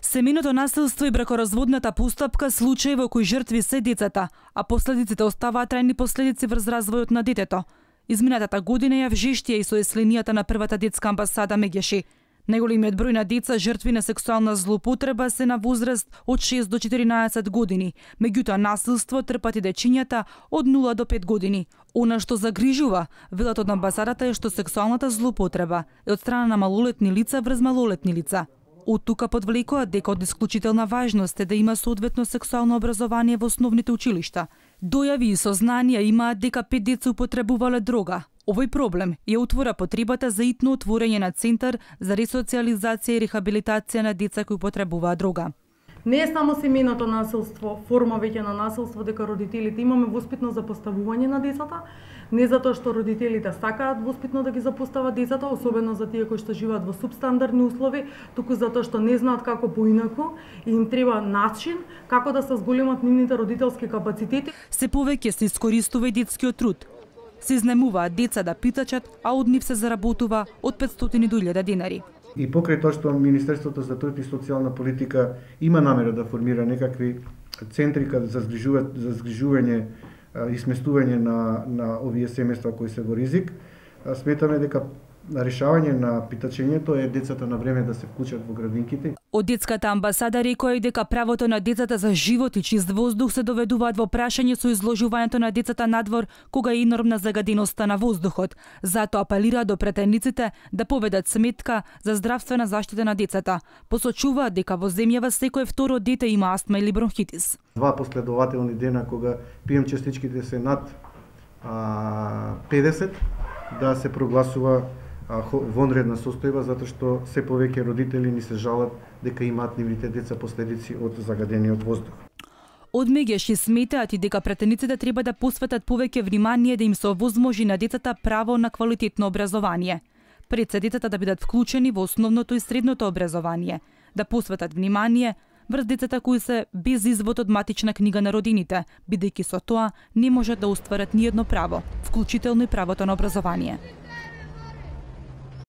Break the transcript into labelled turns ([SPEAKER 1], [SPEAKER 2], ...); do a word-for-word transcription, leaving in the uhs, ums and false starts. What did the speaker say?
[SPEAKER 1] Семејното насилство и бракоразводната постапка случаи во кои жртви се децата, а последиците оставаат трајни последици врз развојот на детето. Изминатата година ја вжештија и со есленијата на првата детска амбасада Мегеши. Најголемиот број на деца жртви на сексуална злоупотреба се на возраст од шест до четиринаесет години, меѓутоа насилство трпат и дечињата од нула до пет години. Она што загрижува, велат од амбасадата, е што сексуалната злоупотреба е од страна на малолетни лица врз малолетни лица. Од тука подвлекуваат дека од исклучителна важност е да има соодветно сексуално образование во основните училишта. Дојави и сознанија имаат дека пет деца употребувале дрога. Овој проблем ја отвора потребата за итно отворање на центар за ресоциализација и рехабилитација на деца кои употребуваат дрога.
[SPEAKER 2] Не е само семејното насилство, форма веќе на насилство, дека родителите имаме воспитно запоставување на децата, не затоа што родителите сакаат воспитно да ги запостават децата, особено за тие кои што живеат во субстандардни услови, туку затоа што не знаат како поинаку и им треба начин како да се зголемат нивните родителски капацитети.
[SPEAKER 1] Се повеќе се искористува и детскиот труд. Се изнемуваат деца да питачат, а од нив се заработува од петстотини до илјада денари.
[SPEAKER 3] И покрај тоа што Министерството за труд и социјална политика има намера да формира некакви центри за згрижување, за згрижување и сместување на, на овие семејства кои се во ризик, сметаме дека решавање на питачењето е децата на време да се вклучат во градинките.
[SPEAKER 1] Од детската амбасада рекоа и дека правото на децата за живот и чист воздух се доведуваат во прашање со изложувањето на децата надвор кога е енормна загаденоста на воздухот. Затоа апелира до претендиците да поведат сметка за здравствена заштита на децата. Посочуваат дека во земјава секое второ дете има астма или бронхитис.
[SPEAKER 3] Два последователни дена кога пи ем частичките се над а, педесет, да се прогласува вонредна состојба, затоа што се повеќе родители ни се жалат дека имаат нивните деца последици од загадениот воздух.
[SPEAKER 1] Од Мегеши сметаат и дека претендиците треба да посветат повеќе внимание да им се овозможи на децата право на квалитетно образование. Пред се децата да бидат вклучени во основното и средното образование, да посветат внимание врз децата кои се без извод од матична книга на родините, бидејќи со тоа не можат да остварат ниедно право, вклучително и правото на образование.